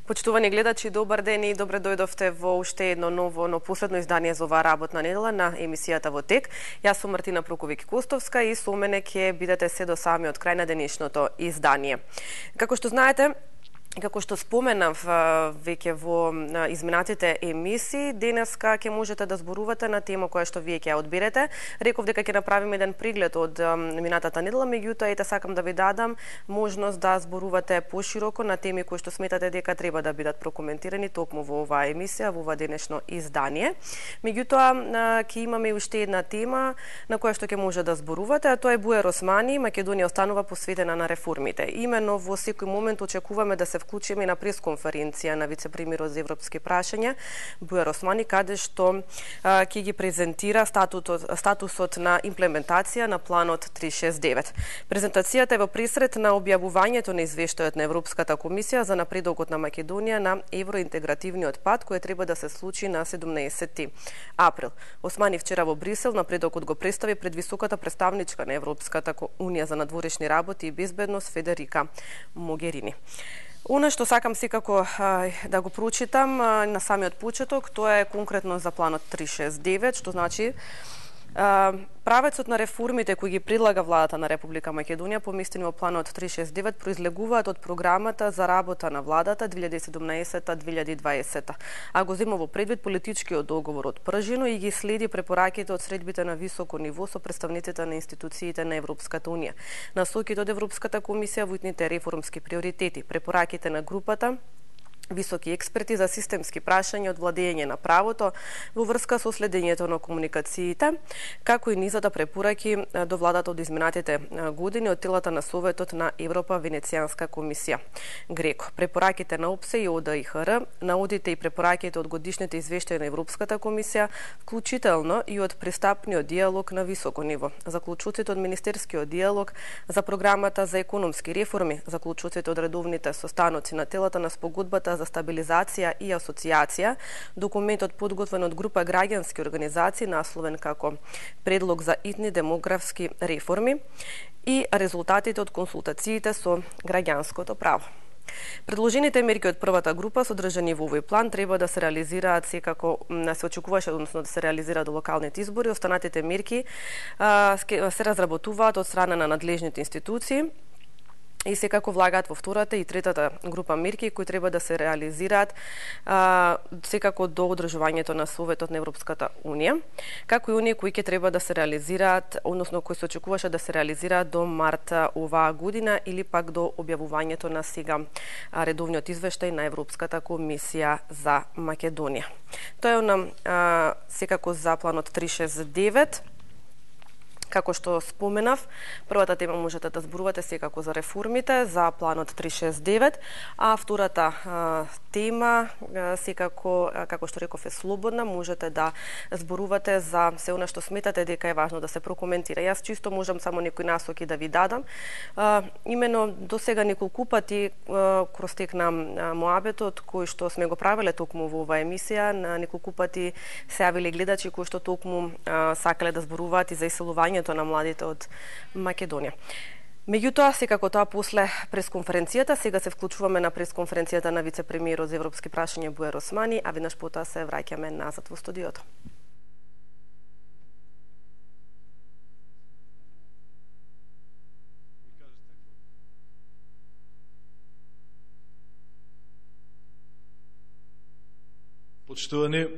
Почитувани гледачи, добар ден и добре дојдовте во уште едно ново, но последно издание за оваа работна недела на емисијата во тек. Јас сум Мартина Проковик-Костовска и со мене ќе бидете се до самиот крај на денешното издание. Како што знаете, како што споменав веќе во изминатите емисии, денеска ќе можете да зборувате на тема која што вие ќе ја одберете. Реков дека ќе направиме еден преглед од минатата недела, меѓутоа сакам да ви дадам можност да зборувате пошироко на теми кои што сметате дека треба да бидат прокоментирани токму во оваа емисија, во ова денешно издание. Меѓутоа ќе имаме и уште една тема на која што ќе може да зборувате, а тоа е Буер Османи. Македонија останува посветена на реформите. Имено во секој момент очекуваме да се вклучиме на пресконференција на вице-премиерот за европски прашања Буер Османи, каде што ќе ги презентира статусот на имплементација на планот 369. Презентацијата е во пресред на објавувањето на извештајот на Европската комисија за напредокот на Македонија на евроинтегративниот пат, кој треба да се случи на 17 април. Османи вчера во Брисел напредокот го представи пред високата представничка на Европската унија за надворешни работи и безбедност Федерика Могерини. Она што сакам секако да го прочитам на самиот почеток, тоа е конкретно за планот 369, што значи правецот на реформите кои ги предлага владата на Република Македонија поместени во планот 369 произлегуваат од програмата за работа на владата 2017-2020, а го зема во предвид политичкиот договор од Пржино и ги следи препораките од средбите на високо ниво со представниците на институциите на Европската унија, насоките од Европската комисија во итните реформски приоритети, препораките на групата високи експерти за системски прашања од владење на правото во врска со следењето на комуникациите, како и низата препораки до владата од изминатите години од телата на Советот на Европа Венецијанска комисија ГРЕКО. Препораките на ОПСЕ и ОДИХР, наудите и препораките од годишните извештаи на Европската комисија, вклучително и од пристапниот диалог на високо ниво, заклучоците од министерскиот диалог за програмата за економски реформи, заклучоците од редовните состаноци на телата на спогодбата за стабилизација и асоциација, документот подготвен од група граѓански организации насловен како предлог за итни демографски реформи и резултатите од консултациите со граѓанското право. Предложените мерки од првата група содржани во овој план треба да се реализираат секако се очекуваше, односно да се реализираат до локалните избори. Останатите мерки се разработуваат од страна на надлежните институции и секако влагаат во втората и третата група мерки кои треба да се реализираат секако до одржувањето на Советот на Европската унија, како и оние кои ќе треба да се реализираат, односно кои се очекуваше да се реализираат до март оваа година или пак до објавувањето на сега редовниот извештај на Европската комисија за Македонија. Тоа е секако за планот 369. Како што споменав, првата тема можете да зборувате секако за реформите, за планот 369, а втората тема секако, како што реков, е слободна, можете да зборувате за се она што сметате дека е важно да се прокоментира. Јас чисто можам само некои насоки да ви дадам. Имено до сега неколку пати кроз тек на моабетот кој што сме го правеле токму во оваа емисија, неколку пати се јавиле гледачи кои што токму сакале да зборуваат и за иселувањето на младите од Македонија. Меѓутоа, секако тоа после пресконференцијата, сега се вклучуваме на пресконференцијата на вице-премиерот за европски прашања Буер Османи, а веднаш потоа се враќаме назад во студиото. Почитувани,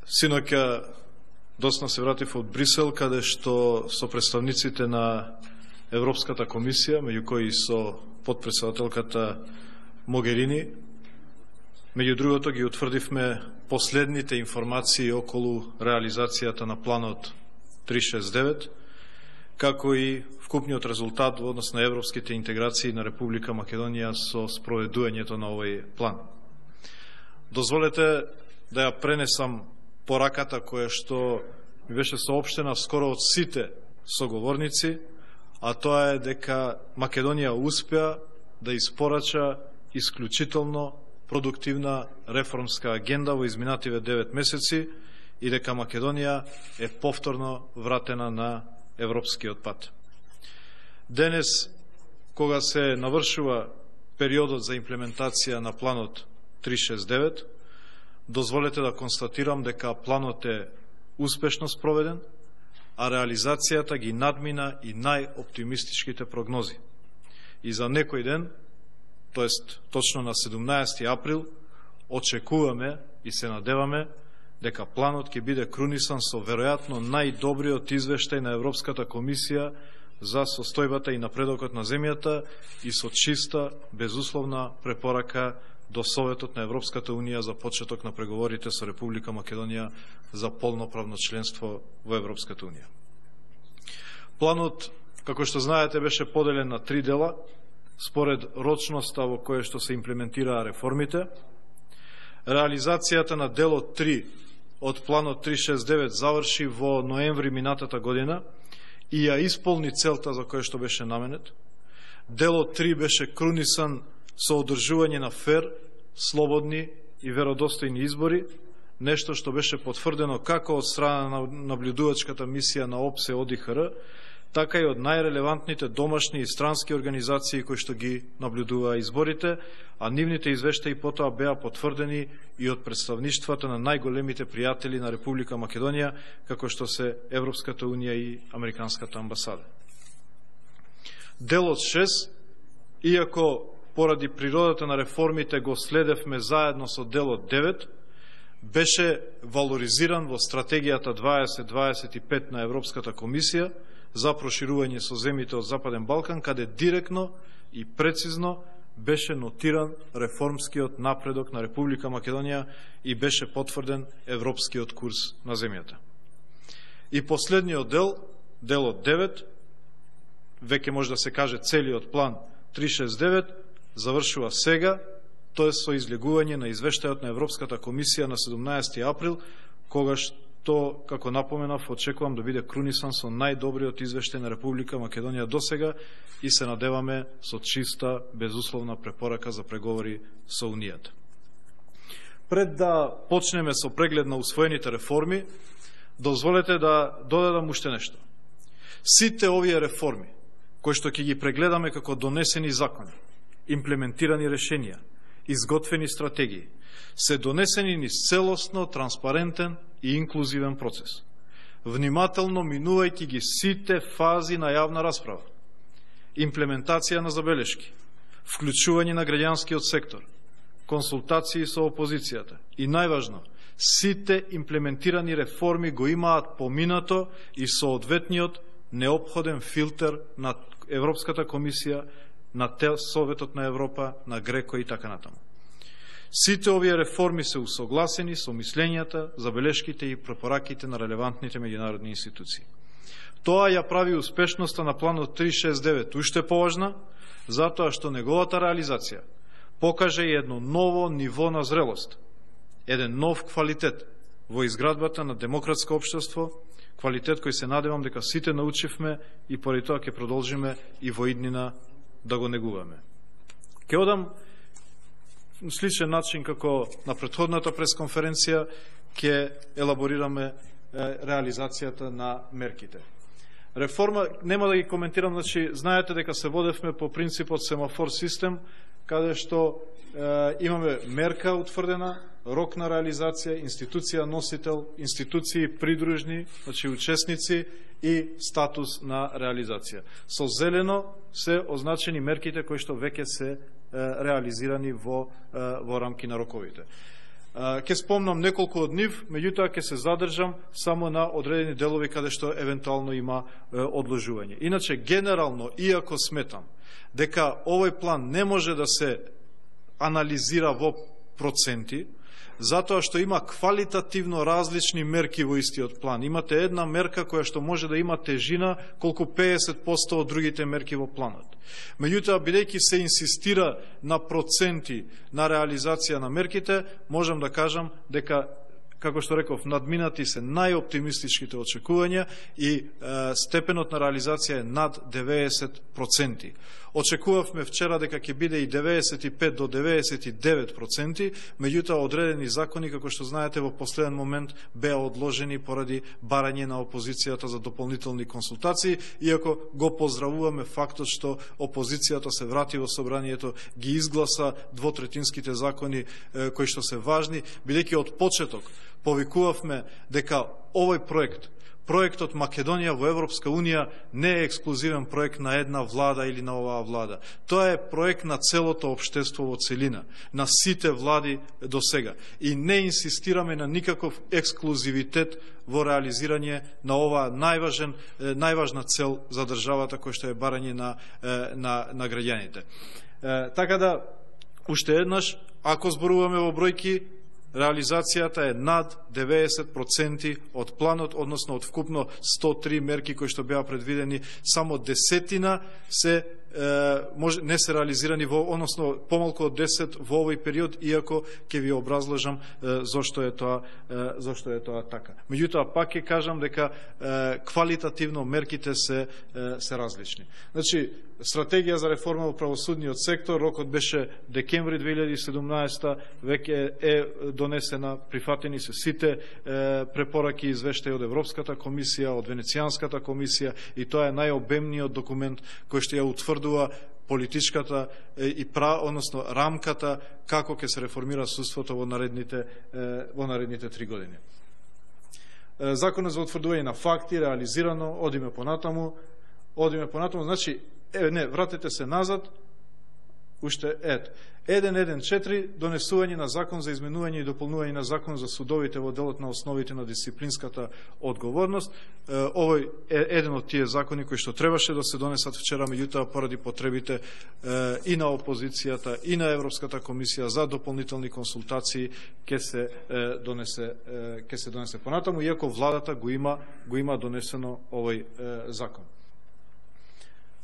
синоќа доцна се вратив од Брисел, каде што со представниците на Европската комисија, меѓу кои со подпредседателката Могерини, меѓу другото ги утврдивме последните информации околу реализацијата на планот 369, како и вкупниот резултат во однос на европските интеграции на Република Македонија со спроведувањето на овој план. Дозволете да ја пренесам пораката која што ми беше соопштена скоро од сите соговорници, а тоа е дека Македонија успеа да испорача исклучително продуктивна реформска агенда во изминативе 9 месеци и дека Македонија е повторно вратена на европскиот пат. Денес, кога се навршува периодот за имплементација на планот 369, дозволете да констатирам дека планот е успешно спроведен, а реализацијата ги надмина и најоптимистичките прогнози. И за некој ден, тоест точно на 17 април, очекуваме и се надеваме дека планот ќе биде крунисан со веројатно најдобриот извештај на Европската комисија за состојбата и напредокот на земјата и со чиста, безусловна препорака до Советот на Европската Унија за почеток на преговорите со Република Македонија за полноправно членство во Европската Унија. Планот, како што знаете, беше поделен на 3 дела, според рочноста во која што се имплементираа реформите. Реализацијата на делот 3 од планот 369 заврши во ноември минатата година и ја исполни целта за која што беше наменет. Делот 3 беше крунисан со одржување на фер, слободни и веродостојни избори, нешто што беше потврдено како од страна на наблюдувачката мисија на ОПСЕ ОДИХР, така и од најрелевантните домашни и странски организации кои што ги наблюдуваа изборите, а нивните извештаи потоа беа потврдени и од представништвата на најголемите пријатели на Република Македонија, како што се Европската Унија и Американската амбасада. Делот 6, иако поради природата на реформите го следевме заедно со делот 9, беше валоризиран во стратегијата 2025 на Европската комисија за проширување со земјите од Западен Балкан, каде директно и прецизно беше нотиран реформскиот напредок на Република Македонија и беше потврден европскиот курс на земјата. И последниот дел, делот 9, веќе може да се каже целиот план 369, завршува сега, тоа со излегување на извештајот на Европската комисија на 17 април, когаш то, како напоменав, очекувам да биде крунисан со најдобриот извештај на Република Македонија досега и се надеваме со чиста, безусловна препорака за преговори со Унијата. Пред да почнеме со преглед на усвоените реформи, дозволете да додадам уште нешто. Сите овие реформи, кои што ќе ги прегледаме како донесени закони, имплементирани решенија, изготвени стратегии, се донесени низ целосно, транспарентен и инклузивен процес, внимателно минувајќи ги сите фази на јавна расправа, имплементација на забелешки, вклучување на граѓанскиот сектор, консултации со опозицијата и најважно, сите имплементирани реформи го имаат поминато и соодветниот неопходен филтер на Европската комисија, на Советот на Европа, на Греко и така натаму. Сите овие реформи се усогласени со мислењата, забелешките и препораките на релевантните меѓународни институции. Тоа ја прави успешноста на планот 369 уште поважна, затоа што неговата реализација покаже едно ново ниво на зрелост, еден нов квалитет во изградбата на демократско општество, квалитет кој се надевам дека сите научивме и поради тоа ќе продолжиме и во иднина да го негуваме. Ке одам сличен начин како на претходната пресконференција, ќе елаборираме реализацијата на мерките. Реформа, нема да ги коментирам, значи, знаете дека се водевме по принципот семафор систем, каде што имаме мерка утврдена, рок на реализација, институција носител, институции придружни, значи учесници и статус на реализација. Со зелено се означени мерките кои што веќе се реализирани во рамки на роковите. Ке спомнам неколку од нив, меѓутоа ќе се задржам само на одредени делови каде што евентуално има одложување. Иначе, генерално, иако сметам дека овој план не може да се анализира во проценти, затоа што има квалитативно различни мерки во истиот план. Имате една мерка која што може да има тежина колку 50% од другите мерки во планот. Меѓутоа, бидејќи се инсистира на проценти на реализација на мерките, можам да кажам дека како што реков, надминати се најоптимистичките очекувања и степенот на реализација е над 90%. Очекувавме вчера дека ќе биде и 95 до 99%, меѓутоа одредени закони, како што знаете, во последен момент беа одложени поради барање на опозицијата за дополнителни консултации, иако го поздравуваме фактот што опозицијата се врати во собранието, ги изгласа двотретинските закони кои што се важни, бидејќи од почеток повикувавме дека овој проектот Македонија во Европска Унија не е ексклузивен проект на една влада или на оваа влада. Тоа е проект на целото општество во целина, на сите влади до сега. И не инсистираме на никаков ексклузивитет во реализирање на оваа најважна цел за државата, која што е барање на граѓаните. Така да, уште еднаш, ако зборуваме во бројки, реализацијата е над 90% од планот, односно од вкупно 103 мерки кои што беа предвидени, само 10 не се реализирани односно помалку од 10 во овој период, иако ќе ви образложам зошто е тоа така. Меѓутоа пак ќе кажам дека квалитативно мерките се различни. Значи, стратегија за реформа во правосудниот сектор, рокот беше декември 2017, веќе е донесена, прифатени се сите препораки и извештаи од Европската комисија, од Венецијанската комисија, и тоа е најобемниот документ кој што ја утврдува политичката и односно рамката како ќе се реформира судството во наредните 3 години. Законот за утврдување на факти реализирано, одиме понатаму, значи вратете се назад, уште 1.1.4 донесување на закон за изменување и дополнување на закон за судовите во делот на основите на дисциплинската одговорност. Овој е еден од тие закони кои што требаше да се донесат вчера, меѓутоа поради потребите и на опозицијата и на Европската комисија за дополнителни консултации ќе се донесе понатаму, иако владата го има донесено овој закон.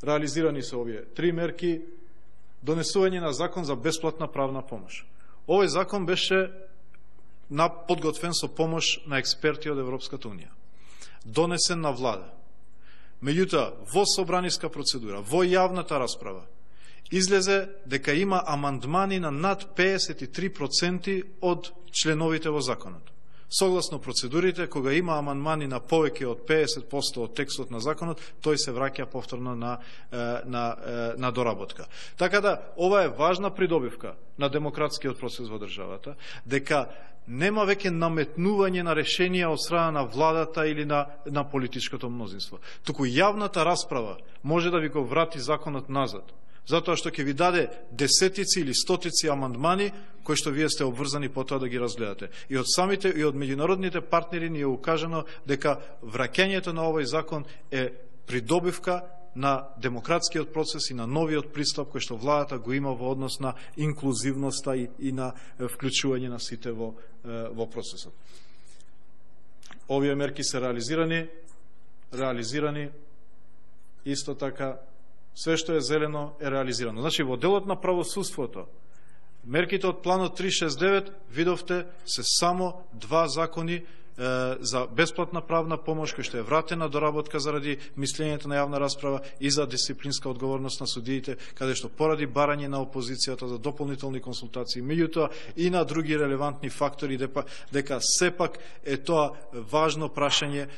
Реализирани се овие 3 мерки. Донесување на закон за бесплатна правна помош. Овој закон беше подготвен со помош на експерти од Европската Унија. Донесен на влада. Меѓутоа, во собраниска процедура, во јавната расправа, излезе дека има амандмани на над 53% од членовите во законот. Согласно процедурите, кога има амандмани на повеќе од 50% од текстот на законот, тој се враќа повторно на доработка. Така да, ова е важна придобивка на демократскиот процес во државата, дека нема веќе наметнување на решенија од страна на владата или на политичкото мнозинство. Туку јавната расправа може да ви го врати законот назад, затоа што ќе ви даде десетици или стотици амандмани кои што вие сте обврзани потоа да ги разгледате. И од самите и од меѓународните партнери ни е укажано дека враќањето на овој закон е придобивка на демократскиот процес и на новиот пристап кој што владата го има во однос на инклузивноста и на вклучување на сите во процесот. Овие мерки се реализирани исто така. Све што е зелено е реализирано. Значи, во делот на правосудството, мерките од планот 369, видовте, се само 2 закони за бесплатна правна помош, кој што е вратена доработка заради мислењето на јавна расправа и за дисциплинска одговорност на судиите, каде што поради барање на опозицијата за дополнителни консултации, меѓутоа и на други релевантни фактори, дека сепак е тоа важно прашање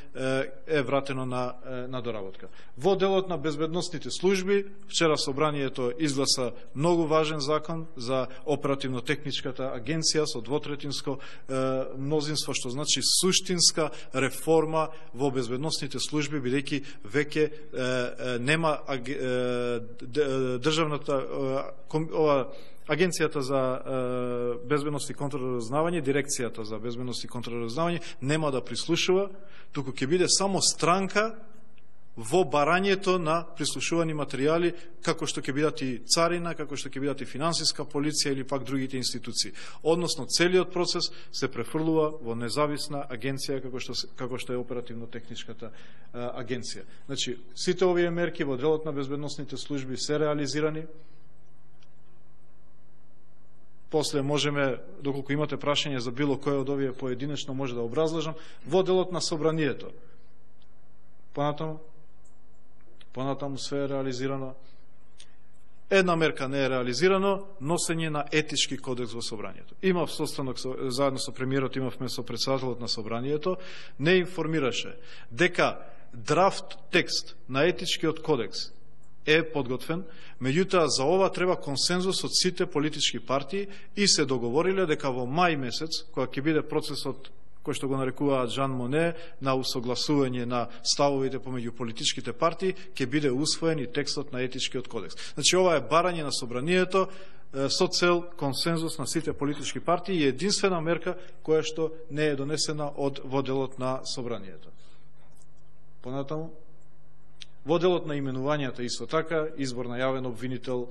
е вратено на доработка. Во делот на безбедносните служби, вчера собранието изгласа многу важен закон за оперативно-техничката агенција со двотретинско мнозинство, што значи суштинска реформа во безбедносните служби, бидејќи веќе нема државната Агенцијата за безбедност и контраразузнавање, дирекцијата за безбедност и контраразузнавање нема да прислушува, туку ќе биде само странка во барањето на прислушувани материјали, како што ќе бидат и царина, како што ќе бидат и финансиска полиција или пак другите институции. Односно, целиот процес се префрлува во независна агенција, како што е оперативно-техничката агенција. Значи, сите овие мерки во делот на безбедносните служби се реализирани. после можеме, доколку имате прашање за било кој од овие поединечно, може да образложам, во делот на собранието. Понатаму све е реализирано. Една мерка не е реализирано, носење на етички кодекс во собранието. Имав состанок заедно со премиерот, имавме со председателот на собранието, не информираше дека драфт текст на етичкиот кодекс е подготвен, меѓутоа за ова треба консензус од сите политички партии и се договориле дека во мај месец, кога ќе биде процесот кој што го нарекуваат Жан Моне, на усогласување на ставовите помеѓу политичките партии, ќе биде усвоен и текстот на етичкиот кодекс. Значи, ова е барање на собранието со цел консензус на сите политички партии и единствена мерка која што не е донесена од воделот на собранието. Понатаму, воделот на именувањата исто така, избор на јавен обвинител,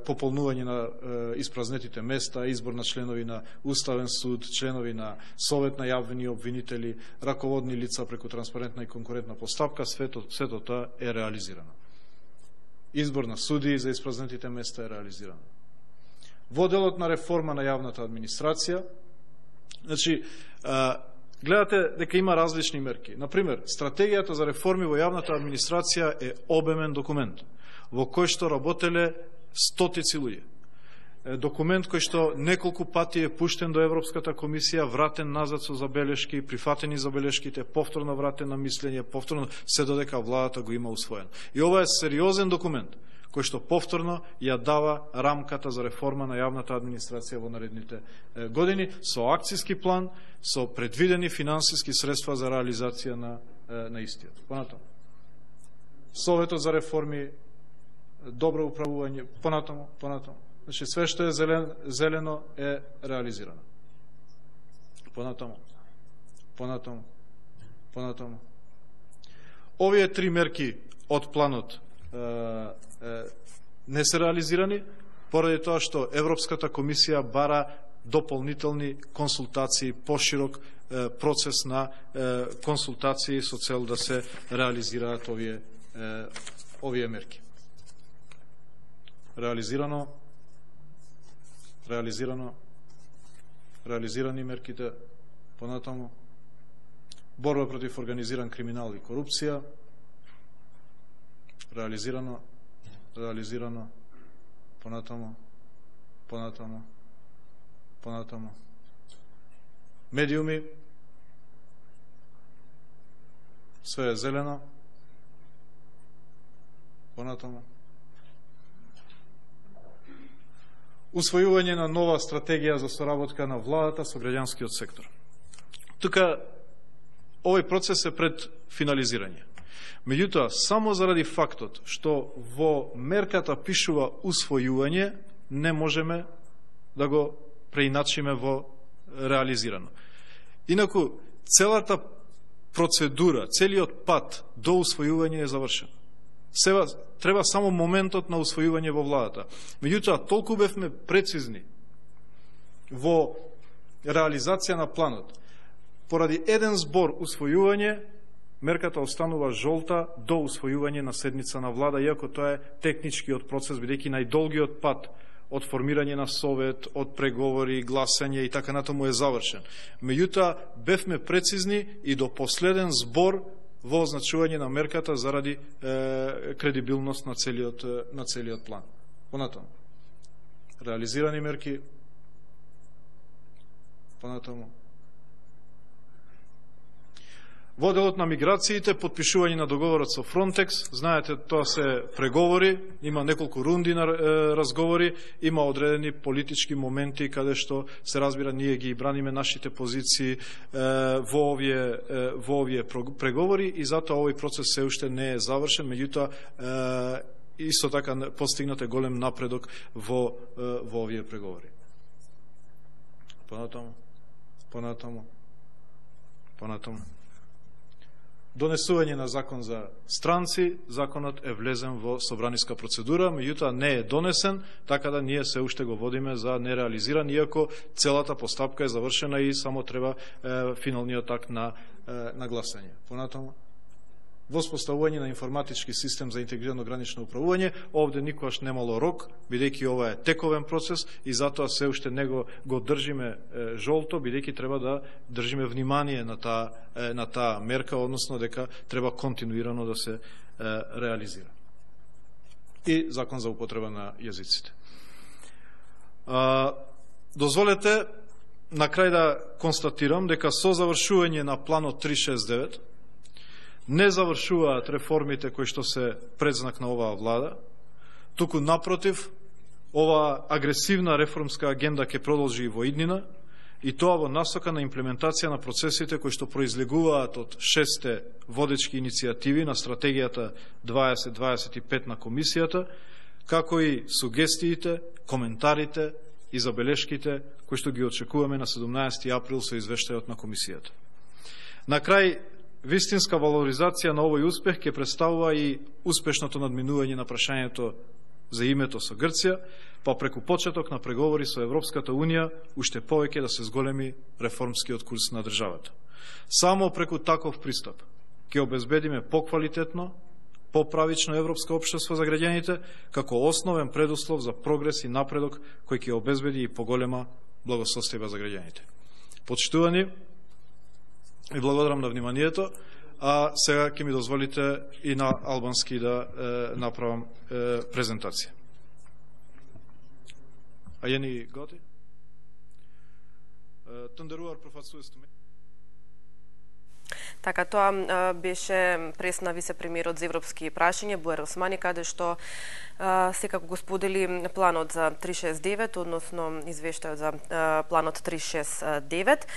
пополнување на испразнетите места, избор на членови на Уставен суд, членови на Совет на јавни обвинители, раководни лица преку транспарентна и конкурентна постапка, сето тоа е реализирано. Избор на суди за испразнетите места е реализирано. Воделот на реформа на јавната администрација, значи, гледате дека има различни мерки. Например, стратегијата за реформи во јавната администрација е обемен документ, во кој што работеле стотици луѓе. Документ кој што неколку пати е пуштен до Европската комисија, вратен назад со забелешки, прифатени забелешките, повторно вратен на мислење, повторно се додека владата го има усвоен. И ова е сериозен документ кој што повторно ја дава рамката за реформа на јавната администрација во наредните години, со акцијски план, со предвидени финансиски средства за реализација на истиот. Понатаму, Советот за реформи, добро управување, понатаму. Значи, све што е зелено е реализирано. Понатаму. Овие три мерки од планот не се реализирани, поради тоа што Европската комисија бара дополнителни консултации, поширок процес на консултации со цел да се реализираат овие мерки. Реализирани мерките, понатаму, борба против организиран криминал и корупција, реализирано, понатаму, медиуми, све е зелено, понатаму, усвојување на нова стратегија за соработка на владата со граѓанскиот сектор. Тука, овој процес е пред финализирање. Меѓутоа, само заради фактот што во мерката пишува усвојување, не можеме да го преиначиме во реализирано. Инаку, целата процедура, целиот пат до усвојување е завршен. Сега треба само моментот на усвојување во владата. Меѓутоа, толку бевме прецизни во реализација на планот. Поради еден збор усвојување, мерката останува жолта до усвојување на седница на влада, иако тоа е техничкиот процес, бидејќи најдолгиот пат од формирање на совет, од преговори, гласање и така натаму е завршен. Меѓутоа, бевме прецизни и до последен збор во означување на мерката заради кредибилност на целиот план. Понатаму, реализирани мерки, понатаму. Во делот на миграциите, подпишување на договорот со Фронтекс, знаете, тоа се преговори, има неколку рунди на разговори, има одредени политички моменти каде што се разбира ние ги браниме нашите позиции во овие преговори и затоа овој процес се уште не е завршен, меѓутоа исто така постигнат е голем напредок во овие преговори. Понатаму. Донесување на закон за странци, законот е влезен во собраниска процедура, меѓутоа не е донесен, така да ние се уште го водиме за нереализиран, иако целата постапка е завршена и само треба финалниот акт на гласање. воспоставување на информатички систем за интегрирано гранично управување. Овде никогаш немало рок, бидејќи ова е тековен процес и затоа се уште него го држиме жолто, бидејќи треба да држиме внимание на таа мерка, односно дека треба континуирано да се реализира. И закон за употреба на јазиците. Дозволете на крај да констатирам дека со завршување на планот 369 не завршуваат реформите кои што се предзнак на оваа влада, туку напротив, оваа агресивна реформска агенда ќе продолжи и во иднина, и тоа во насока на имплементација на процесите кои што произлегуваат од 6 водечки иницијативи на стратегијата 2025 на комисијата, како и сугестиите, коментарите и забелешките кои што ги очекуваме на 17 април со извештајот на комисијата. На крај, вистинска валоризација на овој успех ќе представува и успешното надминување на прашањето за името со Грција, па преку почеток на преговори со Европската Унија уште повеќе да се зголеми реформскиот курс на државата. Само преку таков пристап ќе обезбедиме поквалитетно, поправично европско општество за граѓаните, како основен предуслов за прогрес и напредок кој ќе обезбеди и поголема благосостојба за граѓаните. Почитувани, ви благодарам на вниманието, а сега ќе ми дозволите и на албански да направам презентација. А јени готи? Тендеруар профацуестуме. Така, тоа беше пресна вице-премиерот за европски прашања Буер Османи, каде што секако го сподели планот за 369, односно извештајот за планот 369.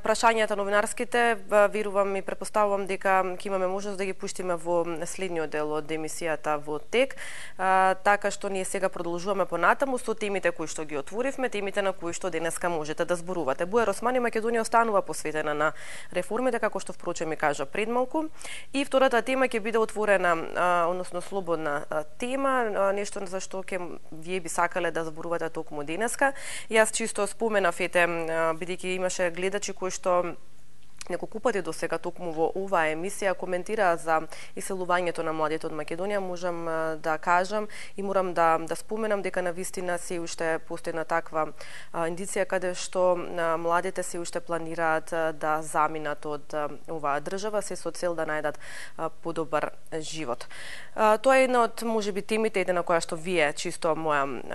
Прашањата новинарските, верувам и претпоставувам дека ќе имаме можност да ги пуштиме во следниот дел од емисијата во тек, така што ние сега продолжуваме понатаму со темите кои што ги отворивме, темите на кои што денеска можете да зборувате. Буер Османи, Македонија останува посветена на реформите, како што впрочем ми кажа пред малку. И втората тема ќе биде отворена, односно слободна тема, нешто за што вие би сакале да зборувате токму денеска. Јас чисто споменав бидејќи имаше гледачи кои што неколку пати до сега токму во оваа емисија коментираа за иселувањето на младите од Македонија, можам да кажам и морам да споменам дека навистина се уште постои на таква индиција каде што младите се уште планираат да заминат од оваа држава се со цел да најдат подобар живот. Тоа е една од можеби темите на која што вие чисто моја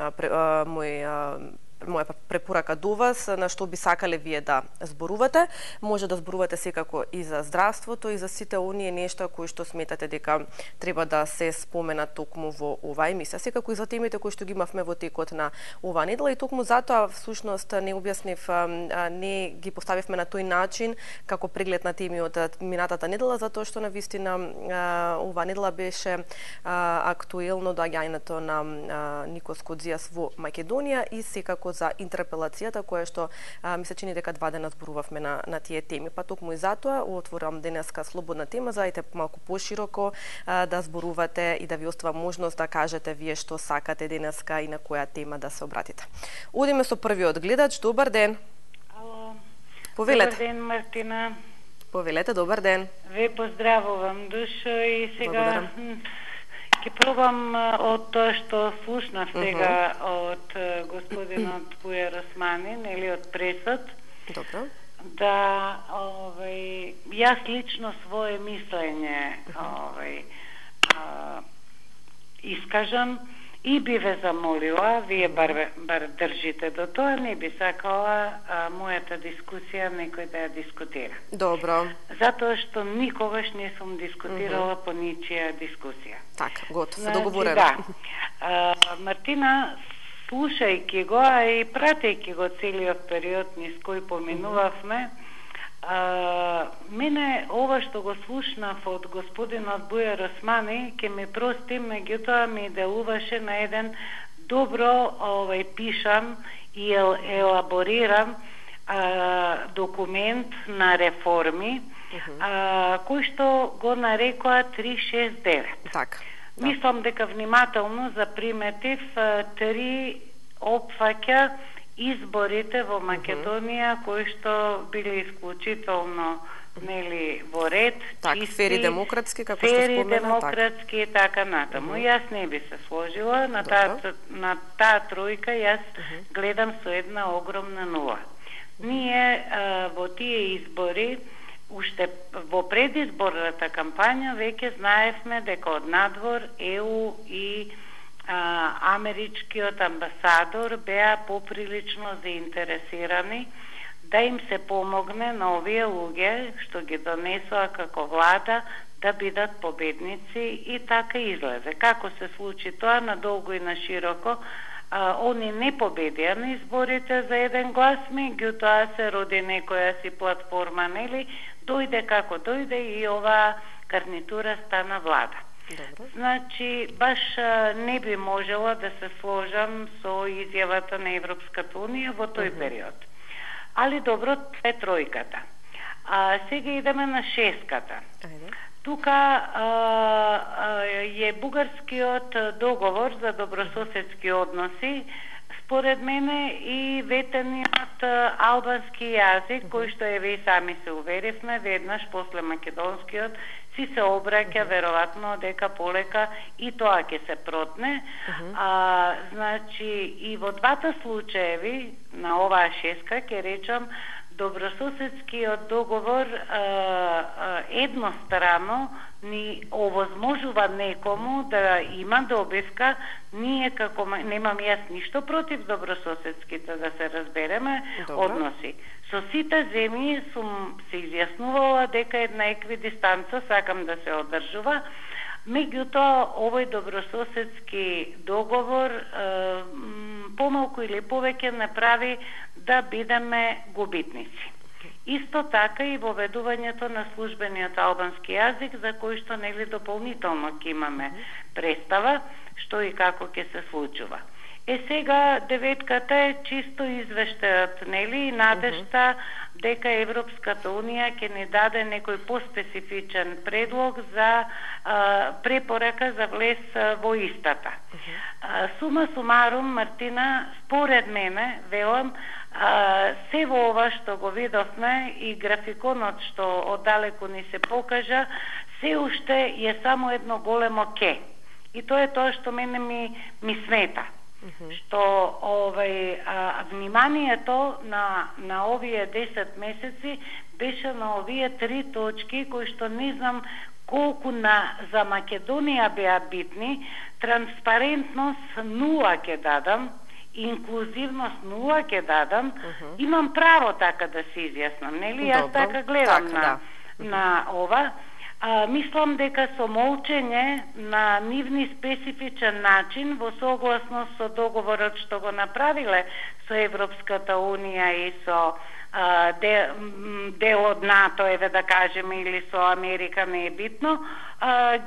препорака до вас, на што би сакале вие да зборувате. Може да зборувате секако и за здравството, и за сите оние нешта кои што сметате дека треба да се споменат токму во оваа емисија. Секако и за темите кои што ги имавме во текот на оваа недела и токму затоа всушност не објаснив, не ги поставивме на тој начин како преглед на теми од минатата недела, затоа што навистина оваа недела беше актуелно доаѓањето на Никос Кодзијас во Македонија и секако за интерпелацијата која што ми се чини дека 2 дена зборувавме на тие теми. Па токму и затоа отворам денеска слободна тема, зајте малку пошироко да зборувате и да ви остава можност да кажете вие што сакате денеска и на која тема да се обратите. Одиме со првиот гледач. Добар ден. Ало. Повелете. Добар ден, Мартина. Повелете, добар ден. Ве поздравувам душо и сега благодарам. Ќе пробам од тоа што слушнав сега од господинот Буер Османи, или од пресот. Добро. Да, јас лично свое мислење искажам и би ве замолила, вие бар држите до тоа, не би сакала мојата дискусија некој да ја дискутира. Добро. Затоа што никогаш не сум дискутирала по ничија дискусија. Така, готово, договорено. Да. Мартина, слушајќи го, а и пратејќи го целиот период низ кој поминувавме, мене ова што го слушнав од господинот Буер Османи ќе ми прости, меѓутоа ми делуваше на еден добро пишан и елабориран документ на реформи, кој што го нарекоа 369. Така. Мислам дека внимателно заприметив 3 опфаќа изборите во Македонија кои што биле исклучително нели во ред, чисти, фери демократски, како што спомена, демократски и така натаму. Јас не би се сложила на таа тројка, јас гледам со една огромна нула. Ние во тие избори, уште во предизборната кампања, веќе знаевме дека од надвор ЕУ и америчкиот амбасадор беа поприлично заинтересирани да им се помогне на овие луѓе што ги донесоа како влада да бидат победници, и така излезе. Како се случи тоа надолго и на широко, они не победија на изборите за еден глас, меѓутоа се роди некоја си платформа, нели, дојде како дојде и оваа гарнитура стана влада. Добро. Значи, баш не би можела да се сложам со изјавата на Европската Унија во тој период. Али добро, тоа е тројката. Сега идеме на шеската. Тука е бугарскиот договор за добрососедски односи, според мене и ветениот албански јазик, кој што еве и сами се уверивме, веднаш после македонскиот си се обраќа веројатно дека полека и тоа ќе се протне. Значи и во двата случаеви на оваа шеска ќе речам добрососедскиот договор еднострано ни овозможува некому да има добивка. Ние како немам јас ништо против добрососедските, да се разбереме, односи. Со сите земји сум се изјаснувала дека една еквидистанца сакам да се одржува. Меѓутоа, овој добрососедски договор помалку или повеќе не прави да бидеме губитници. Исто така и воведувањето на службениот албански јазик, за кој што нели дополнително ќе имаме представа што и како ќе се случува. Сега деветката е чисто извештајот, нели, и надежта дека Европската Унија ќе ни даде некој поспецифичен предлог за препорака за влез во истата. Сума сумарум, Мартина, според мене, велам, се во ова што го видовме и графиконот што оддалеку ни се покажа, се уште е само едно големо ке. И тоа е тоа што мене ми смета. Што вниманието на овие 10 месеци беше на овие 3 точки кои што не знам колку за Македонија беа битни. Транспарентност 0 ќе дадам, инклузивност 0 ќе дадам. Имам право така да се изјаснам, нели? Јас така гледам на ова. Мислам дека со молчење на нивни специфичен начин, во согласност со договорот што го направиле со Европската Унија и со дел од НАТО, еве да кажеме, или со Америка, не е битно,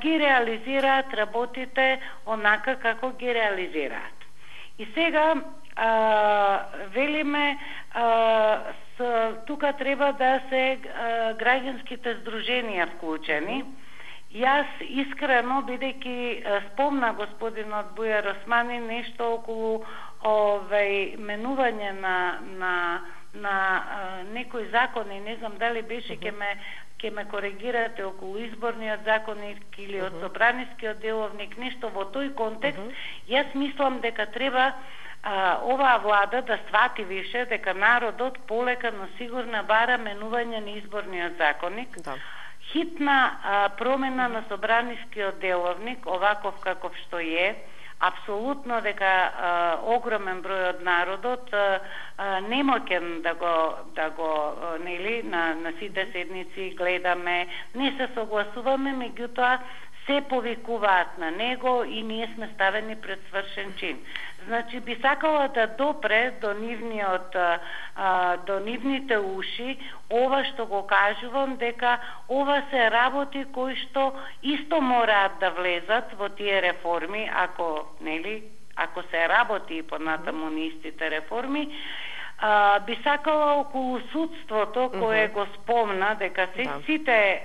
ги реализираат работите онака како ги реализираат. И сега велиме тука треба да се граѓанските здруженија вклучени. Јас искрено, бидејќи спомна господинот Бујар Османи нешто околу менување на некои закони, не знам дали беше, ќе ме коригирате, околу изборниот законник или од собранискиот деловник, нешто во тој контекст. Јас мислам дека треба оваа влада да свати више дека народот полека, но сигурно бара менување на изборниот законник. Хитна промена на собранискиот деловник, оваков каков што е, апсолутно дека огромен број од народот немоќен да го нели на сите седници гледаме, не се согласуваме, меѓутоа се повикуваат на него и ние сме ставени пред свршен чин. Значи би сакала да допре до нивните уши ова што го кажувам, дека ова се работи кои што исто мораат да влезат во тие реформи, ако се работи и понатаму на истите реформи. Би сакала околу судството, кое го спомна, дека сите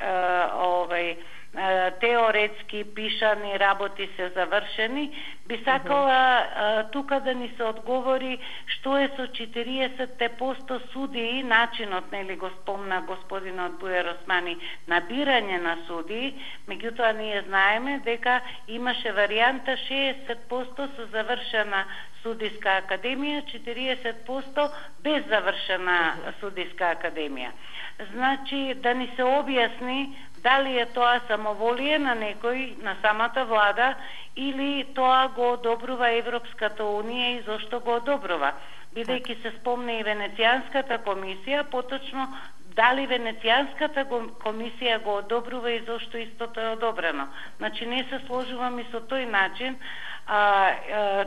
тие теоретски пишани работи се завршени, би сакала тука да ни се одговори што е со 40% судии, начинот, нели го спомна господинот Бујар Османи, набирање на судии, меѓутоа ние знаеме дека имаше варијанта 60% со завршена судиска академија, 40% без завршена судиска академија. Значи, да ни се објасни дали е тоа самоволие на некој, на самата влада, или тоа го одобрува Европската Унија и зошто го одобрува. Бидејќи се спомне и Венецијанската комисија, поточно дали Венецијанската комисија го одобрува и зошто истото е одобрено. Значи, не се сложувам и со тој начин.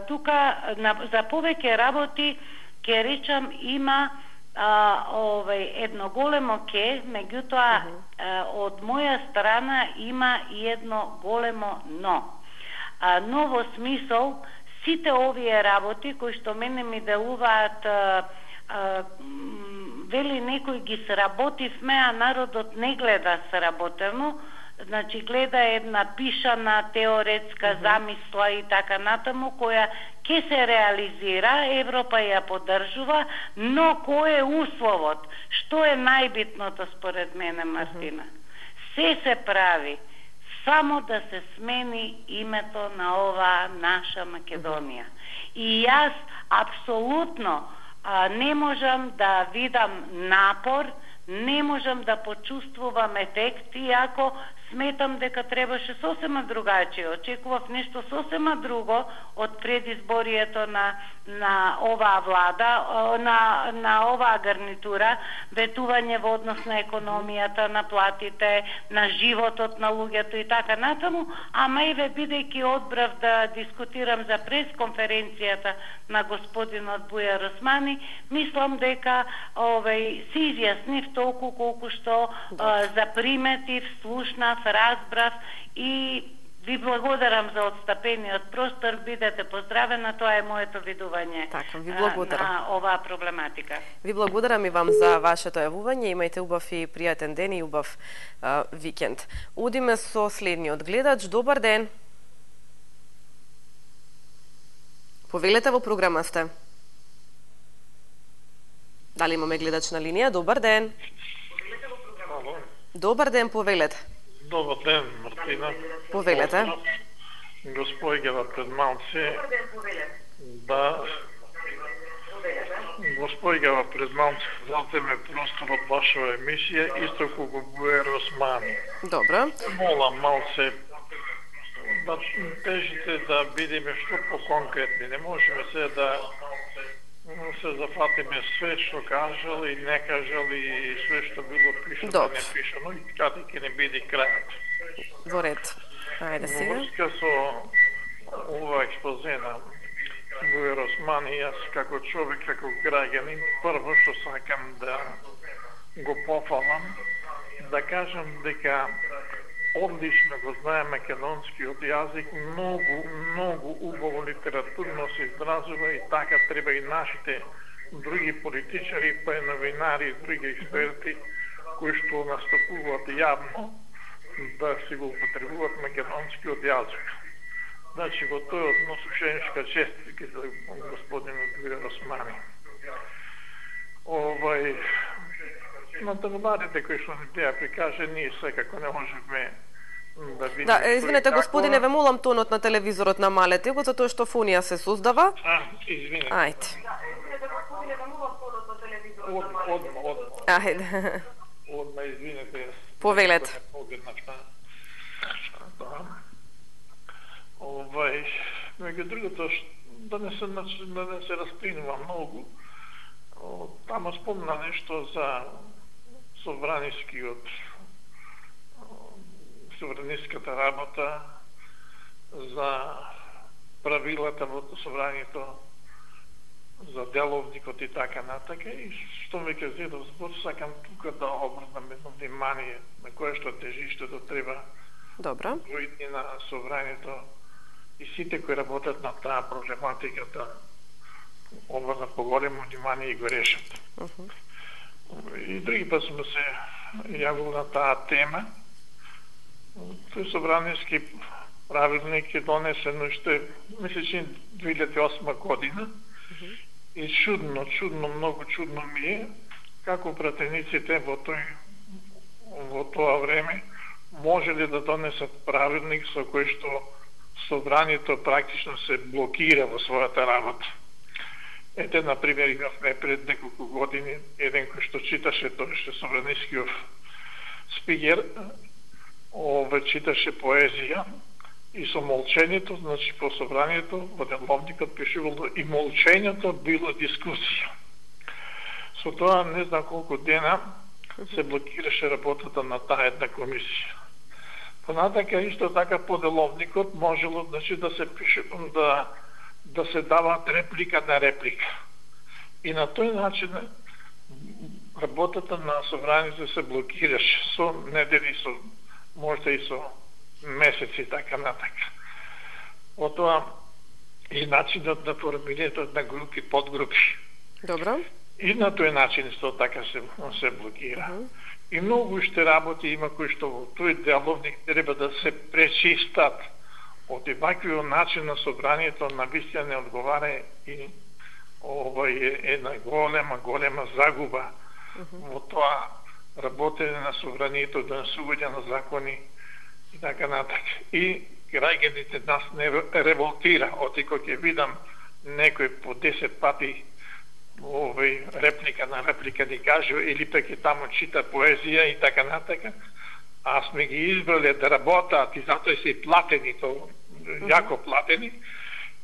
Тука за повеќе работи ќе речам има едно големо ке, меѓутоа од моја страна има и едно големо но. Но во смисол сите овие работи кои што мене ми делуваат вели некој ги сработивме, а народот не гледа сработено, значи гледа една пишана теоретска замисла и така натаму, која ќе се реализира, Европа ја поддржува, но кој е условот? Што е најбитното според мене, Мартина? Се прави само да се смени името на оваа наша Македонија. И јас апсолутно не можам да видам напор, не можам да почувствувам ефект, иако сметам дека требаше сосема другачие. Очекував нешто сосема друго од предизборието на оваа влада, на оваа гарнитура, ветување во однос на економијата, на платите, на животот на луѓето и така натаму, ама еве бидејќи одбрав да дискутирам за пресконференцијата на господинот Бујар Османи, мислам дека се изјаснив толку колку што заприметив, слушнав, разбрав и ви благодарам за отстапениот простор, бидете поздравена, тоа е моето видување на оваа проблематика. Ви благодарам и вам за вашето јавување, имајте убав и пријатен ден и убав викенд. Одиме со следниот гледач, добар ден. Повелете, во програма сте. Дали имаме гледач на линија? Добар ден. Добар ден, повелете. Добар ден, Мартина. Повелете. Господјава пред малце залтеме простор од вашава емисија, исто како Бујар Османи. Добро. Молам малце да тежите да бидеме што по-конкретни. Не можеме се да се зафатиме све што кажал и не кажал и све што било пишано и не пишано и каде ќе не биде крајот. Во ред. Ајде сега. Во врска со ова експозе на Бујар Османи, јас како човек, како граѓанин, прво што сакам да го пофалам, да кажам дека одлично го знае македонскиот јазик, многу убаво литературно се изразува и така треба и нашите други политичари, па и новинари и други експерти кои што настапуваат јавно да си го употребуваат македонскиот јазик. Значи, во тој однос ушеничка честитки за господинот Бујар Османи. На тагубарите кои што не теја прикаже, ние секако не можеме да видиме... Да, извинете, господине, ве молам тонот на телевизорот намалете го, затоа што фонија се создава. Извинете. Ајде. Ајде. Одма, извинете. Повелете. Меѓу другото, да не се распинува многу, тamo спомна нешто за собраниската работа, за правилата во собранието, за деловникот и така натака, и што ме ке зедов збор, сакам тука да обрнам едно внимание на кое што тежиштето треба војни на собранието и сите кои работат на таа проблематиката обрна поголемо внимание и го решат. И други пат сме се јавил на таа тема Тој собраниски правилник е донесен уште, мислечи 2008 година. И чудно, многу чудно ми е како пратениците во тоа време можеле да донесат правилник со кој што собранието практично се блокира во својата работа. Ете, например, имавме пред неколку години еден кој што читаше тој што собранискиот спикер, читаше поезија и со молчењето, значи по собранието, во деловникот пишувало и молчењето било дискусија. Со тоа не знам колку дена се блокираше работата на таа една комисија. Понатака исто така по деловникот можело, значи, да се пише, да се даваат реплика на реплика. И на тој начин работата на собранието се блокираше со недели, со можда и со месеци, така натака. Отоа и начинот на формирањето на групи, подгрупи. Добро. И на тој начин исто така се блокира. И многу уште работи има кои што во тој деловник треба да се пречистат. Од ваквиот начин на собранието на вистина не одговара и ова е една голема загуба во тоа работење на собранието, донесување на закони и така натака. И граѓаните нас не револтира, оти кога ќе видам некој по 10 пати реплика на реплика ни кажува, или пак и таму чита поезија и така натака, а сме ги избрали да работат и затоа се и платени, то јако платени,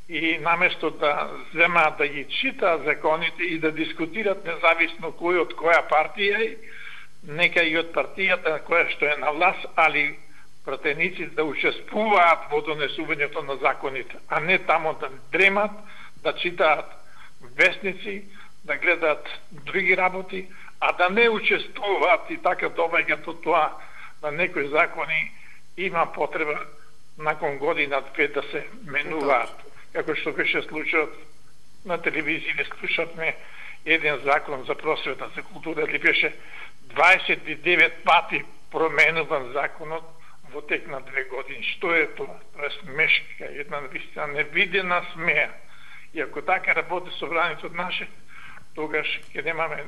и наместо да земаат да ги читаат законите и да дискутират независно кој од која партија е, нека и од партијата која што е на власт, али пратениците да учествуваат во донесувањето на законите, а не тамо да дремат, да читаат вестници, да гледаат други работи, а да не учествуваат и така доваѓа до тоа на некои закони има потреба након година-две да се менуваат. Како што беше случајот на телевизија, слушавме еден закон за просвета, за култура, или беше 29 пати променуван законот во тек на 2 години. Што е тоа? Тоа е смешка, една вистина невидена смеја. И ако така работи собранието наше, тогаш ќе немаме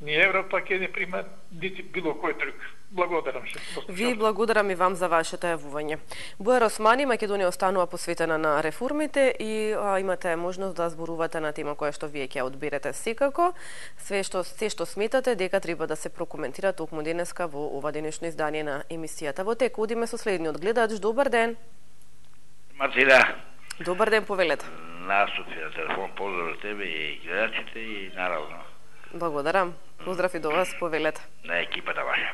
ни Европа, ќе не прима нити било кој друг. Благодарам се. Ви благодарам и вам за вашето јавување. Бујар Османи, Македонија останува посветена на реформите и имате можност да зборувате на тема која што вие ќе одберете секако. Се што сметате дека треба да се прокоментира токму денеска во ова денешно издание на емисијата Во тек. Одиме со следниот гледач. Добар ден. Мартина. Добар ден, повелете. На Софија, телефон, поздрав за тебе и гледачите и наравно. Благодарам. Поздрав и до вас, повелете. На екипата ваша.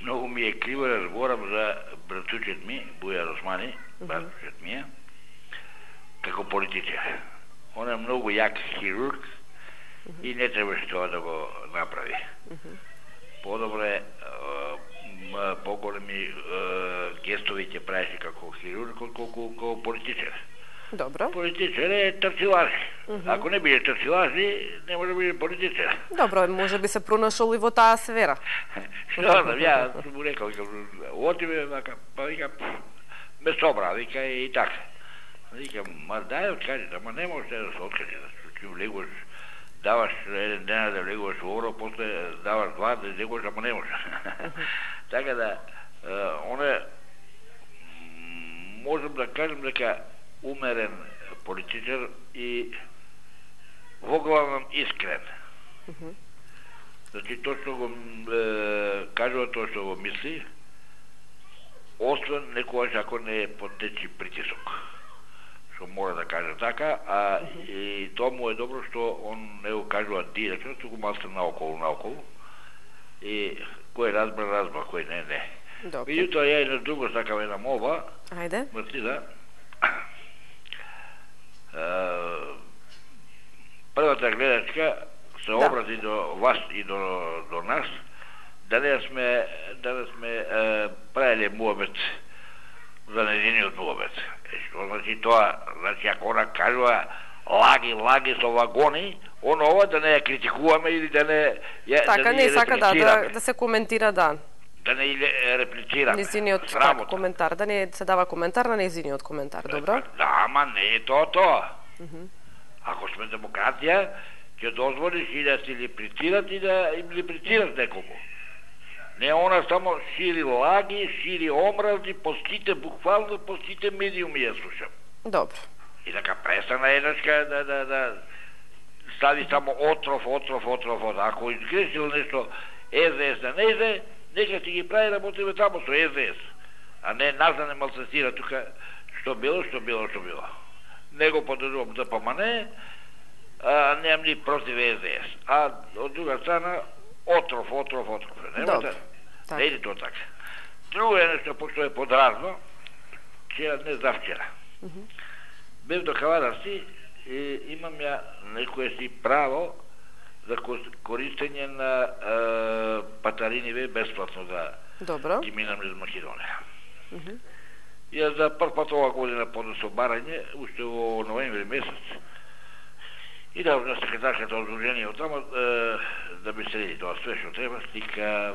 Многу ми е криво да разборам за братучет ми, Бујар Османи, братучет ми е, како политичар. Он е многу јак хирург и не требаше тоа да го направи. Подобре, поголеми гестови ќе правеше како хирург, отколку како политичар. Добро. Политичар е трчилаж. Ако не биде трчилажи, не може да биде политичар. Добро, може би се пронашол и во таа сфера. Што да, ја му рекал, отиме, па вика, ме собра, вика и така. Вика, ма дај откажи, ама не може да се откажи, да влегуваш, даваш еден ден да влегуваш во оро, после даваш два да влегуваш, ама не може. Така да, оне, можем да кажем дека умерен политичар и воглавном искрен. Значи, тоа што го кажува, тоа што го мисли, освен некојаш ако не под нечи притисок. Што мора да каже така, а и тоа му е добро што он не го кажува директно, туку малку наоколу. И кој разбра, кој не. Меѓутоа, ја и на друго сакам една молба. Ајде. Мартина, првата гледачка се обрати до вас и до нас, да не сме правили муабет за нејниот муабет. Што значи тоа? Значи, ако она кажува лаги со вагони, ова да не ја критикуваме или да не ја така, не сака да се коментира, да. да не реплицирам. Незиниот коментар, да не се дава коментар на незиниот коментар, добро? Да, ама не е тоа. Ако сме демократија, ќе дозволиш и да си реплицират и да им реплицират неколку. Не, она само шири лаги, шири омрази, по сите, буквално по сите медиуми ја слушам. Добро. И така престана еднашка да стави само отров. Ако изгрешил нешто СДС да не иде, нека си ги прави работиме тамо со СДС. А не нас да не малцестира тука што било. Не го поддржувам ДПМН, немам ни против СДС. А од друга страна отров. Добро. Не иде тоа така. Друго е нешто, пошто е подразно, не за вчера. Бев до Кавадарци и имам ја некое си право за користење на патариниве бесплатно да ги минам из Македонија. Ја за прв пат ова година поднесо барање, уште во ноември месец, и да на секретарката од Друженијето тамо да би среди тоа све што треба, стика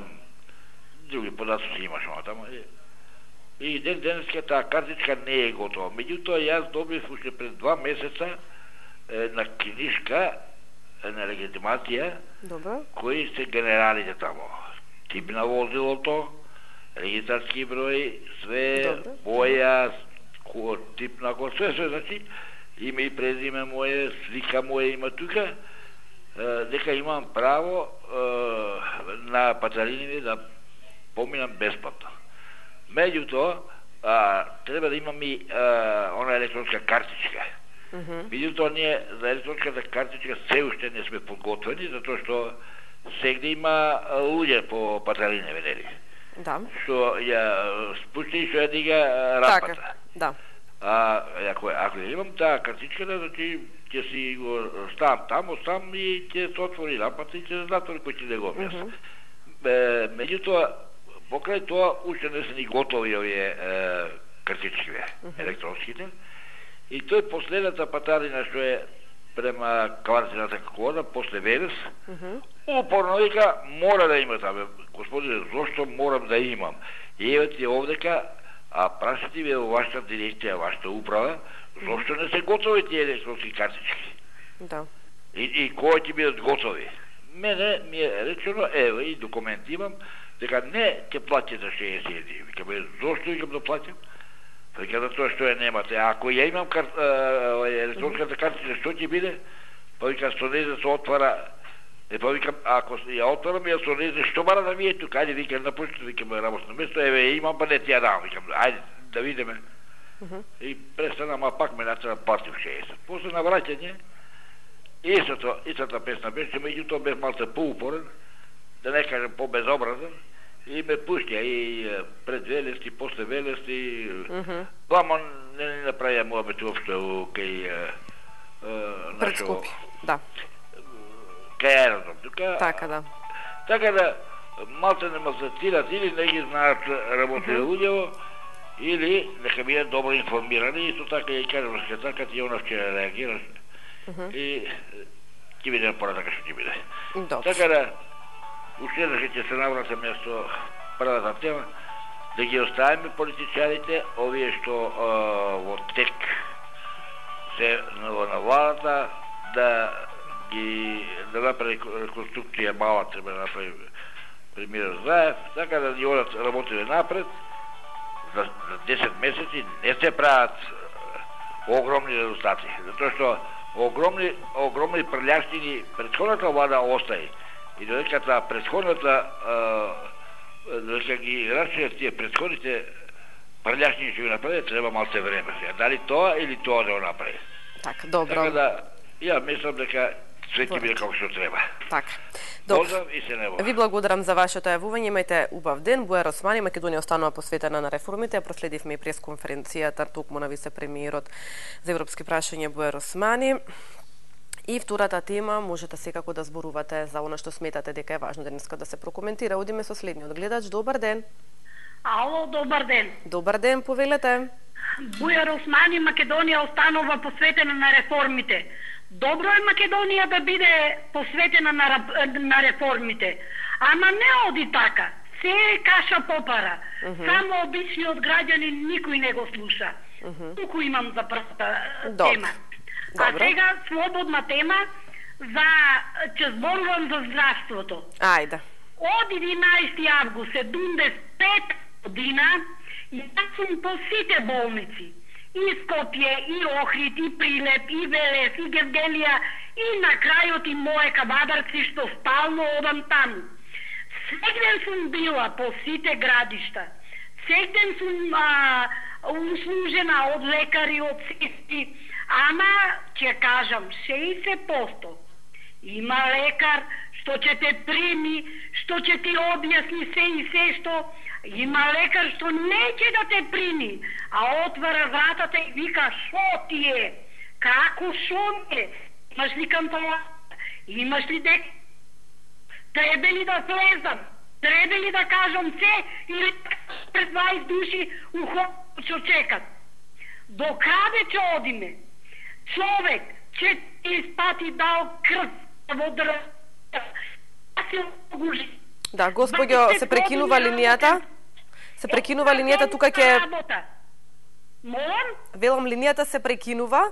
други податоци имаш тамо. И денеска таа картичка не е готова. Меѓутоа јас добив уште пред 2 месеца на книжка на легитимација кои се генералите тамо. Тип на возилото, регистарски број, све, боја, тип на кој, све, значи, име и презиме моје, слика моје има тука, дека имам право на патариниве да поминам бесплатно. Меѓутоа, треба да имам и она електронска картичка. Меѓутоа, ние за електронската картичка се уште не сме подготвени, затоа што сегде има луѓе по патариневе, нели? Да. Што ја спусти и што ја дига рампата. Така, да. Ако ја имам таа картичка, значи ќе си го ставам таму сам и ќе се отвори рампата и ќе се затвори кој ќе да го објасни. Меѓутоа, покрај тоа, уште не се ни готови овие картичкиве, електронските. И тој последната патарина што е према Каварцината кода, после Велес, упорно вика, мора да има табе. Господине, зошто морам да имам? И евете овдека, прашите ве во вашата дирекција, вашата управа, зошто не се готови тие електронски картички? Да. И кои ќе бидат готови? Мене ми е речено, ево и документ имам, дека не ќе платите 60 еври. Викаме, зошто викам да платим? Вика за тоа што ја немате. Ако ја имам електронската картичка, што ќе биде? Па вика, сонезе се отвара. Па викам, ако ја отварам, ја сонезе, што бара да ми е тука? Ајде, викам, напуштите, викам, работно место, еве, имам, па не ти ја дам. Викам, ајде, да видиме. И престанам, а пак ме натера платив 60. После на враќање, истата песна беше, меѓутоа бев малце поупорен, да не кажем по-безобразен, и ме пуштја и пред Велести, после Велести, ама не направија мојабет уопште кај Предскупи, да. Кај аеродром, тука. Така да. Така да, малце не мазатират, или не ги знаат работите луѓево, или нека бидат добро информирани, исто така ја кажам на секретарката и она ќе реагираш. И ќе биде напоратака што ќе биде. Така да, уште ќе се навратиме со првата тема, да ги оставиме политичарите, овие што во тек се на владата, да направи реконструкција мала, треба да направи премиер Заев, така да ни одат работите напред, за 10 месеци не се прават огромни резултати, затоа што огромни прелјаштини претходната влада остаи. И додека таа претходната додека ги рачујат тие претходните прелјаштини што ги направи, треба малце време. Дали тоа или тоа да го направи? Така, добро. Така да, ја мислам дека све ќе биде како што треба. Така. Поздрав и се небо. Ви благодарам за вашето јавување, имајте убав ден. Бујар Османи, Македонија останува посветена на реформите. Проследивме и пресконференцијата токму на вице-премиерот за европски прашања Бујар Османи. И втората тема, можете секако да зборувате за она што сметате дека е важно денеска да се прокоментира. Одиме со следниот гледач. Добар ден. Ало, добар ден. Добар ден, повелете. Бујар Османи, Македонија останува посветена на реформите. Добро е Македонија да биде посветена на реформите, ама не оди така. се е каша попара. Само обичниот граѓанин никој не го слуша. Туку имам за првата тема. А сега слободна тема ќе зборувам за здравството. Ајде. Од 11 август 75 година јас сум по сите болници. И Скопје, и Охрид, и Прилеп, и Велес, и Гевгелија, и на крајот и моје Кабадарци, што стално одам таму. Сегден сум била по сите градишта. Сегден сум услужена од лекари, од сестри, ама ќе кажам 60%. Има лекар што ќе те прими, што ќе ти објасни се и се што. Има лекар што неќе да те прими, а отвара вратата и вика шо ти е? Како шо ми е? Имаш ли кантала? Имаш ли дек? Требе ли да слезам? Требе ли да кажам се? Или пред 20 души ухо што чекат? До каде ќе одиме? Човек ќе ти испати дал крв во дрвта. Да, господјо, се прекинува линијата. Се прекинува линијата, тука ќе... Молам? Велам, линијата се прекинува.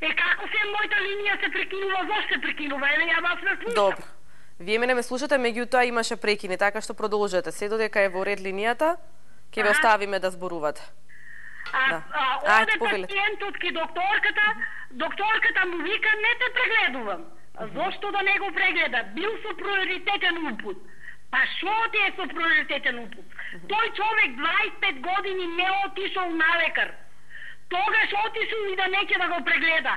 Како се мојата линија се прекинува? Зошто се прекинува? Еле, ја вас не слушам. Добро. Вие мене ме слушате, меѓутоа имаше прекини, така што продолжете. Се додека е во ред линијата, ќе ве оставиме да зборувате. Оде пациентот ки докторката му вика, не те прегледувам. Зошто да не го прегледа? Бил со приоритетен упут. Па шо ти е со приоритетен упут? Тој човек 25 години не отишол на лекар. Тогаш отишол и да неќе да го прегледа.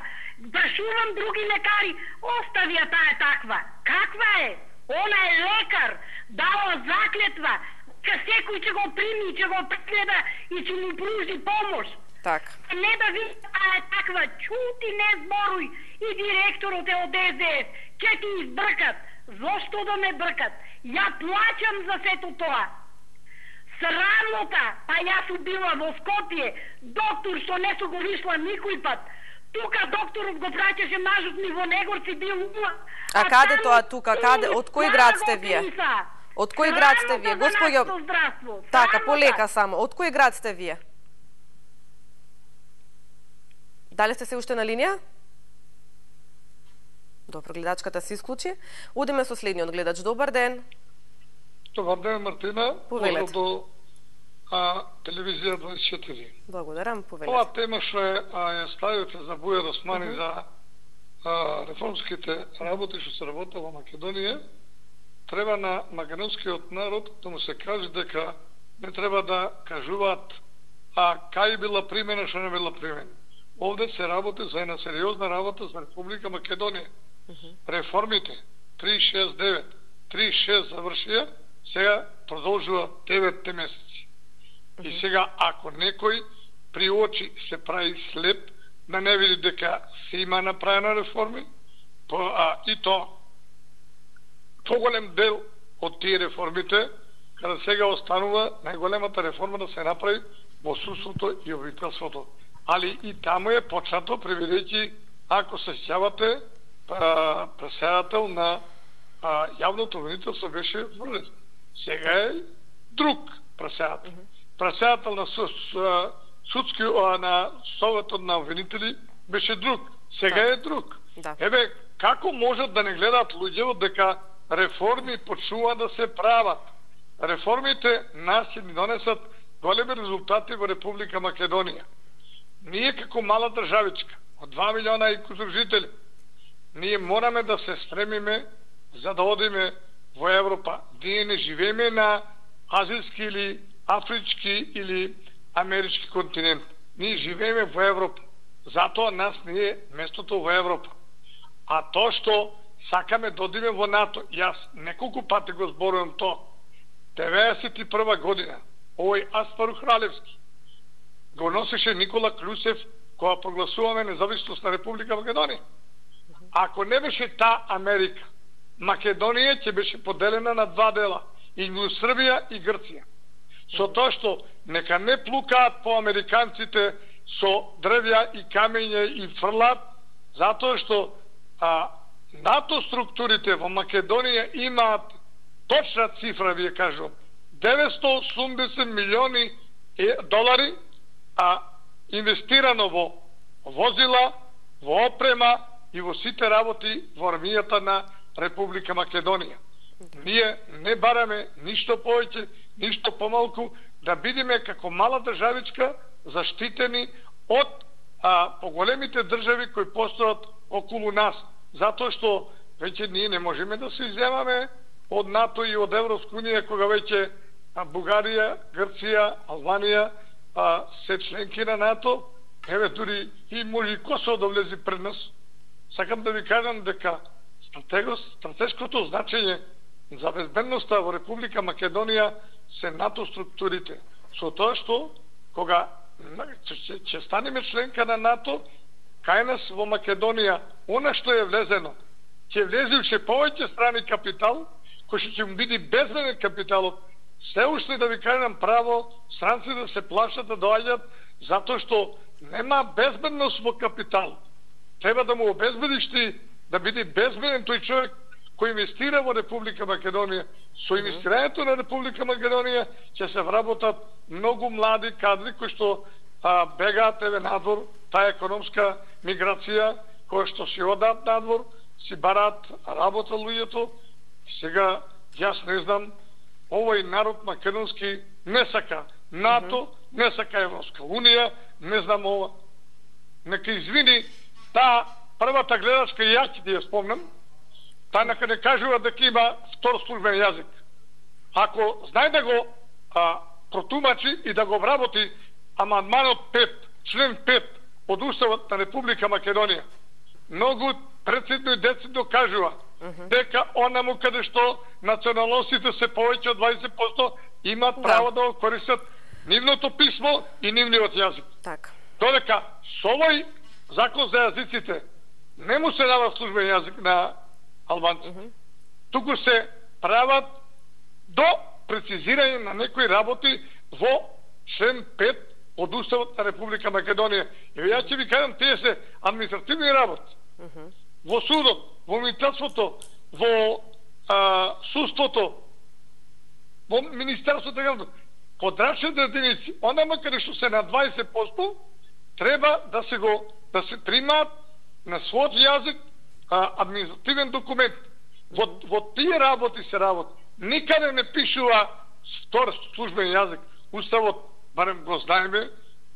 Прашувам други лекари, остави ја таа таква. Каква е? Она е лекар, дала заклетва. Секој ќе го прими, ќе го прегледа и ќе му пружи помош. Так. Не да ви таа е таква, чути, не зборуј. И директорот е од СДС. Ќе ти избркат. Зошто да ме бркат? Ја плаќам за сето тоа. Срамота, па јас сум била во Скопје, доктор што не су го вишла никој пат. Тука докторот го праќаше мажот ми во Негорци, бил ума. А каде тоа тука? Каде? Од кој град сте вие? Од кој град сте вие? Господјо, така, полека само. Од кој град сте вие? Дали сте се уште на линија? Добро, гледачката се исклучи. Одиме со следниот гледач. Добар ден. Добар ден, Мартина. Повелете. До телевизија 24. Благодарам, повелете. Ова тема што ја ставите за Бујар Османи за реформските работи што се работи во Македонија, треба на македонскиот народ да му се каже дека не треба да кажуваат кај била примена, што не била примена. Овде се работи за една сериозна работа за Република Македонија. Реформите 369, 36 завршија, сега продолжува 9 месеци. И сега, ако некој при очи се прави слеп, да не види дека се има направена реформи, и то поголем дел од тие реформите, каде сега останува најголемата реформа да се направи во судството и обвинителството. Али и таму е почнато, преведејќи, ако се сеќавате, преседател на јавното обвинителство беше врлен. Сега е друг преседател. Преседател на судски, на Советот на обвинители беше друг. Сега е друг. Да. Еве, како можат да не гледаат луѓето дека реформи почнува да се прават? Реформите нас ќе ни донесат големи резултати во Република Македонија. Ние како мала државичка, од 2 милиона и кусур жители, ние мораме да се стремиме за да одиме во Европа. Ние не живееме на азијски или афрички или амерички континент. Ние живееме во Европа. Затоа нас не е местото во Европа. А тоа што сакаме да одиме во НАТО, јас неколку пати го зборувам тоа. 91 година, овој Аспарух Ралевски го носеше Никола Клюсев кога прогласуваме независност на Република Македонија. Ако не беше та Америка, Македонија ќе беше поделена на два дела, и Србија и Грција. Со тоа што нека не плукаат по американците со дрвја и камења и фрлат, затоа што НАТО структурите во Македонија имаат точна цифра, вие кажувам, 980 милиони долари, а инвестирано во возила, во опрема и во сите работи во армијата на Република Македонија. Ние не бараме ништо повеќе, ништо помалку, да бидеме како мала државичка заштитени од поголемите држави кои постојат околу нас, затоа што веќе ние не можеме да се изземаме од НАТО и од Европска унија, кога веќе Бугарија, Грција, Албанија се членки на НАТО. Еве дури и може и Косово да влезе пред нас. Сакам да ви кажам дека стратешкото значење за безбедноста во Република Македонија се НАТО структурите. Со тоа што кога ќе станеме членка на НАТО, кај нас во Македонија, она што е влезено, ќе влезе уште повеќе страни капитал, кој ќе му биде безбеден капиталот. Се уште да ви кажам право, странци да се плашат да доаѓат, затоа што нема безбедност во капитал. Треба да му обезбедиш ти да биде безбеден тој човек кој инвестира во Република Македонија. Со инвестирањето на Република Македонија ќе се вработат многу млади кадри кои што бегаат еве надвор, таа економска миграција, која што си одат надвор, си бараат работа луѓето. Сега јас не знам, овој народ македонски не сака НАТО, не сака Европска унија, не знам ова. Нека извини таа првата гледачка, и ја ќе ти ја спомнам, таа нека не кажува дека има втор службен јазик. Ако знае да го протумачи и да го обработи амандманот 5, член 5 од Уставот на Република Македонија, многу прецизно и децидно кажува дека онаму каде што националностите се повеќе од 20% имат право да го користат нивното писмо и нивниот јазик. Така. Додека со овој закон за јазиците не му се дава службен јазик на албанци. Туку се прават до прецизирање на некои работи во член 5 од Уставот на Република Македонија. И ја ќе ви кажам, тие се административни работи. Во судот, во министерството, во судството, во министерството, подрачните единици, онама каде што се на 20%, треба да се примаат на својот јазик административен документ. Во тие работи се работи. Никаде не пишува втор службен јазик. Уставот, барем го знаеме,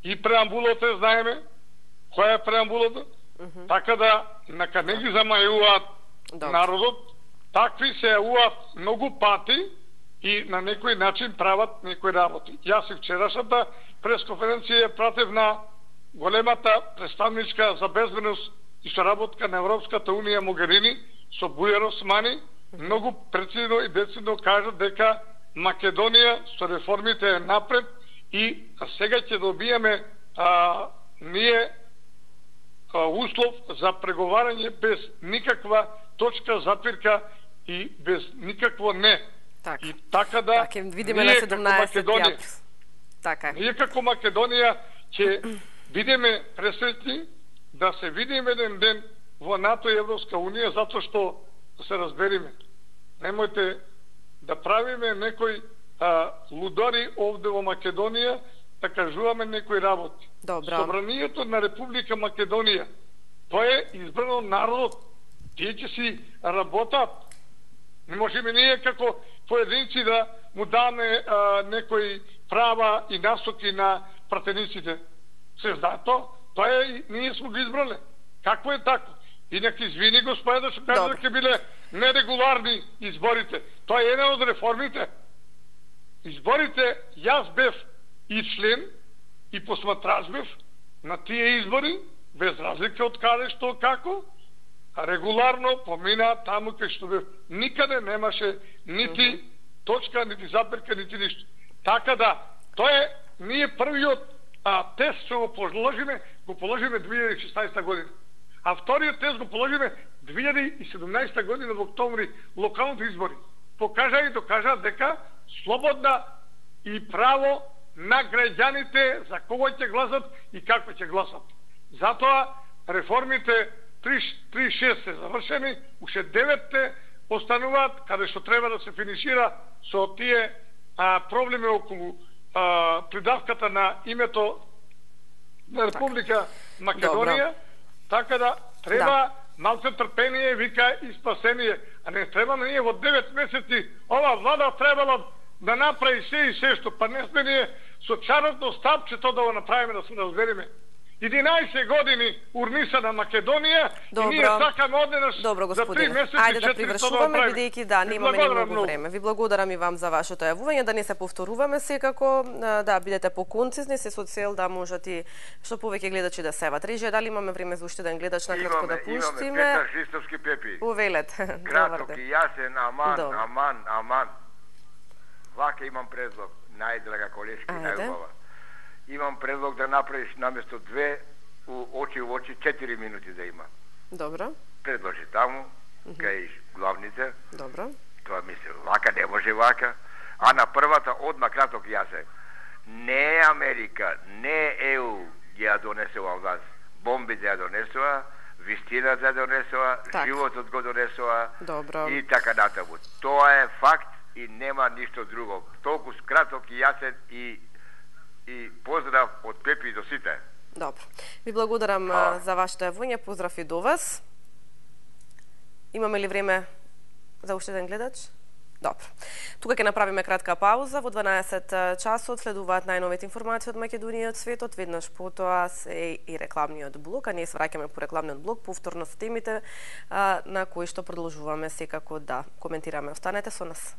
и преамбулата знаеме, која е преамбулата, така да нека не ги замајуваат народот, такви се јавуваат многу пати и на некој начин прават некои работи. Јас и вчерашната пресконференција пратев на големата представничка за безбедност и соработка на Европската унија Могерини со Бујар Османи, многу прецизно и децидно кажат дека Македонија со реформите е напред и сега ќе добиеме ние услов за преговарање без никаква точка затвирка и без никакво не. Так. И така да видиме на 17 така. Ние како Македонија ќе бидеме пресретни да се видиме еден ден во НАТО и Европска унија, затоа што да се разбериме. Немојте да правиме некои лудори овде во Македонија, да кажуваме некои работи. Добро. Собранието на Република Македонија, тоа е избрано народот. Тие ќе си работат. Не можеме ние како поединци да му даме некои права и насоки на пратениците. Се знае тоа е, ние сме го избрале. Какво е тако? И нека извини господа што кажа дека биле нерегуларни изборите. Тоа е една од реформите. Изборите, јас бев и член и посматрач бев на тие избори, без разлика од каде што како, регуларно помина таму кај што бев. Никаде немаше нити точка, нити запирка, нити ништо. Така да, тоа е ние првиот тест што го положиме 2016 година. А вториот тест го положиме 2017 година во октомври, локалните избори. Покажа и докажа дека слободна и право на граѓаните за кого ќе гласат и како ќе гласат. Затоа реформите 3-6 се завршени, уште 9 остануваат, каде што треба да се финишира со тие проблеми околу придавката на името на Република Македонија, така да треба малце трпение, вика и спасение, а не треба на ние во 9 месеци ова влада требало да направи се што, па не сме ние со чаротно стапчето да го направиме, да се разбереме. 11 години урниса на Македонија и ние сакаме одненаш за 3 месеци. Ајде да привршуваме, бидејќи немаме ни многу време. Ви благодарам и вам за вашето јавување, да не се повторуваме секако, да бидете поконцизни, се со цел да можат и што повеќе гледачи да севат. Режија, дали имаме време за уште еден гледач на кратко да пуштиме? Имаме, Петар Христовски Пепи. Увелете. Краток и јасен, аман. Вака имам предлог, најдрага колешка, најубава. Имам предлог да направиш наместо 2 очи в очи 4 минути да има. Добро. Предложи таму, кај главните. Добро. Тоа мисли, вака не може вака. А на првата одма краток јасен. Не Америка, не ЕУ ги ја донесува вас. Бомбите ја донесува, вистината ја донесува, животот го донесува. Добро. И така натаму. Тоа е факт и нема ништо друго. Толку краток и јасен и поздрав од Пепи до сите. Добро. Ви благодарам за вашето јавување, поздрав и до вас. Имаме ли време за уште еден гледач? Добро. Тука ќе направиме кратка пауза. Во 12 часот следуваат најновите информации од Македонија и од светот. Веднаш потоа се и рекламниот блок, а ние се враќаме по рекламниот блок, повторно со темите на кои што продолжуваме секако да коментираме. Останете со нас.